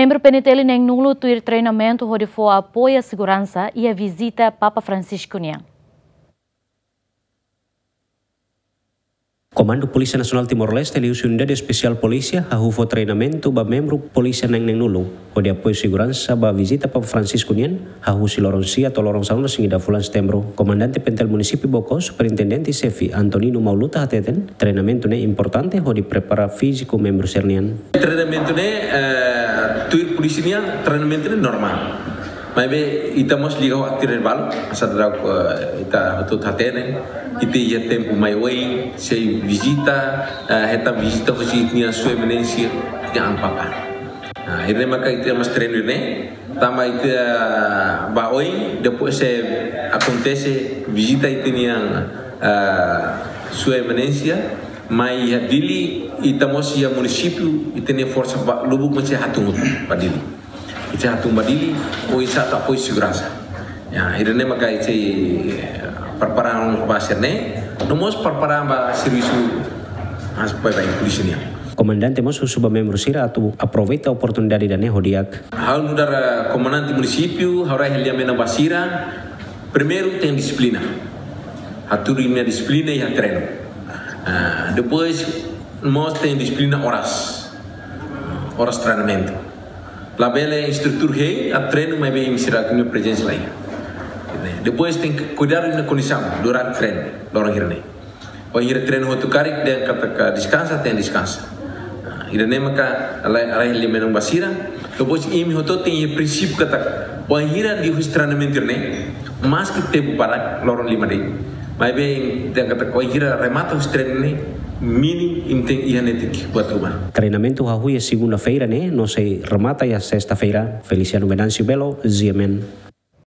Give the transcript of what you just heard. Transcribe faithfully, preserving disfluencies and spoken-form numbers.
Membru P N T L neen-nulu tuir treinamentu hodi fó apoiu seguransa iha vizita Papa Francisco nian. Komandu Polísia Nasionál Timor-Leste liuhusi Unidade Espesiál Polísia hahú fó treinamentu ba membru polísia neen-nulu hodi apoiu seguransa ba vizita Papa Francisco nian, hahú husi loron sia to'o loron sanulu-resin-ida fulan Setembru. Komandante P N T L Munisípiu Baucau, Superintendente Xefe Antonino Mauluta hateten, treinamentu ne'e importante hodi prepara fíziku membru sira-nian. Treinamentu ne'e, eh, tuir polísia nian, treinamentu ne'e normál. Maibé ita mós liga ho atividade balu, hanesan daudaun, eh, ita hotu hatene, ita iha tempu mai oin, sei vizita, eh, hetan vizita husi nia Sua Eminénsia, nia Amu Papa. Nah, ida-ne'e maka ita mós treinu ne'e, tanba ita ba oin, depois sei akontese vizita ita-nia, eh, Sua Eminénsia, mai iha Dili, ita mós iha munisípiu, ita-nia forsa ba, lubuk mós sei hatun ba Dili. Ita hatun ba Dili, oinsá atu apoiu seguransa. Ya, ida-ne'e maka ita prepara ba sira-ne'e, no mós prepara ba servisu, mas pai ba polísia nian. Komandante mós husu ba membru sira atu aproveita oportunidade ida-ne'e ho di'ak. Ha'u nu'udar, eh, komandante munisípiu, ha'u rai hela menon ba sira, primeiru tenke dixiplina. Hatudu imi-nia dixiplina iha treinu. Ah, depois, mós tenke dixiplina oras. Oras treinamentu. Labele instrutór hein atu treinu maibé imi sira-nia prezensa la iha. Depois tenke kuidadu imi-nia kondisaun durante treinu, loron hira-ne'e. Wainhira treinu hotu karik dehan katak deskansa, tenke deskansa. Ah, ida-ne'e maka rai, rai hela menon ba sira. Depois imi hotu tenke iha prinsípiu katak wainhira liuhusi treinamentu ne'e, maski tempu badak, loron lima de'it. Maibé dehan katak wainhira remata husi treinu ne'e, mínimu imi tenke iha netik buat ruma. Treinamentu hahú iha segunda-feira ne'e, no sei remata iha sesta-feira. Feliciano Venâncio Belo, G M N.